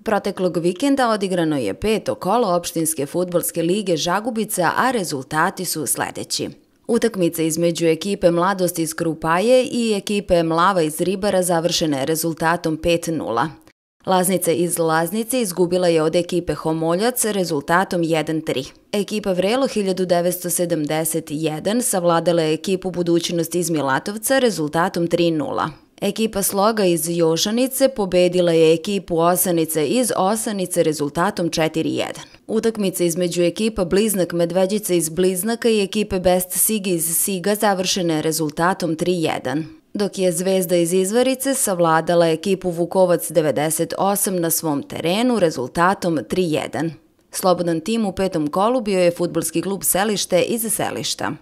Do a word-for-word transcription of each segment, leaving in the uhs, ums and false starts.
Proteklog vikenda odigrano je peto kolo opštinske fudbalske lige Žagubica, a rezultati su sledeći. Utakmica između ekipe Mladost iz Krupaje i ekipe Mlava iz Ribara završena je rezultatom pet nula. Laznica iz Laznice izgubila je od ekipe Homoljac rezultatom jedan tri. Ekipa Vrelo hiljadu devetsto sedamdeset jedan savladala je ekipu Budućnost iz Milatovca rezultatom tri nula. Ekipa Sloga iz Jošanice pobedila je ekipu Osanice iz Osanice rezultatom četiri jedan. Utakmica između ekipa Bliznak Medveđica iz Bliznaka i ekipe Best Sig iz Siga završena je rezultatom tri jedan. Dok je Zvezda iz Izvarice savladala ekipu Vukovac devedeset osam na svom terenu rezultatom tri jedan. Slobodan tim u petom kolu bio je fudbalski klub Selište iz Selišta.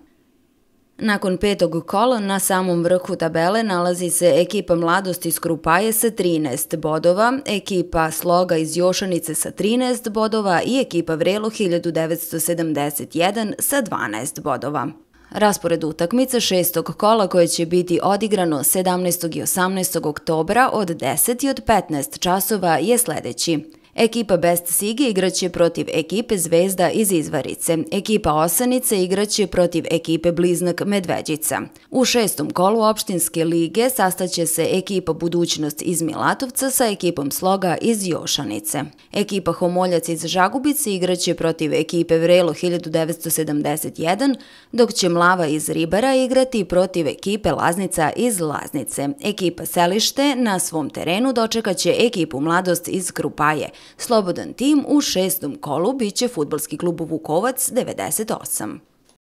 Nakon petog kola na samom vrhu tabele nalazi se ekipa Mladost iz Krupaje sa trinaest bodova, ekipa Sloga iz Jošanice sa trinaest bodova i ekipa Vrelo hiljadu devetsto sedamdeset jedan sa dvanaest bodova. Raspored utakmica šestog kola koje će biti odigrano sedamnaestog i osamnaestog oktobra od deset i od petnaest časova je sledeći. Ekipa Best Sig igraće protiv ekipe Zvezda iz Izvarice. Ekipa Osanice igraće protiv ekipe Bliznak Medveđica. U šestom kolu opštinske lige sastaće se ekipa Budućnost iz Milatovca sa ekipom Sloga iz Jošanice. Ekipa Homoljac iz Žagubice igraće protiv ekipe Vrelo hiljadu devetsto sedamdeset jedan, dok će Mlava iz Ribara igrati protiv ekipe Laznica iz Laznice. Ekipa Selište na svom terenu dočekaće ekipu Mladost iz Krupaje. Slobodan tim u šestom kolu biće fudbalski klub Vukovac devedeset osam.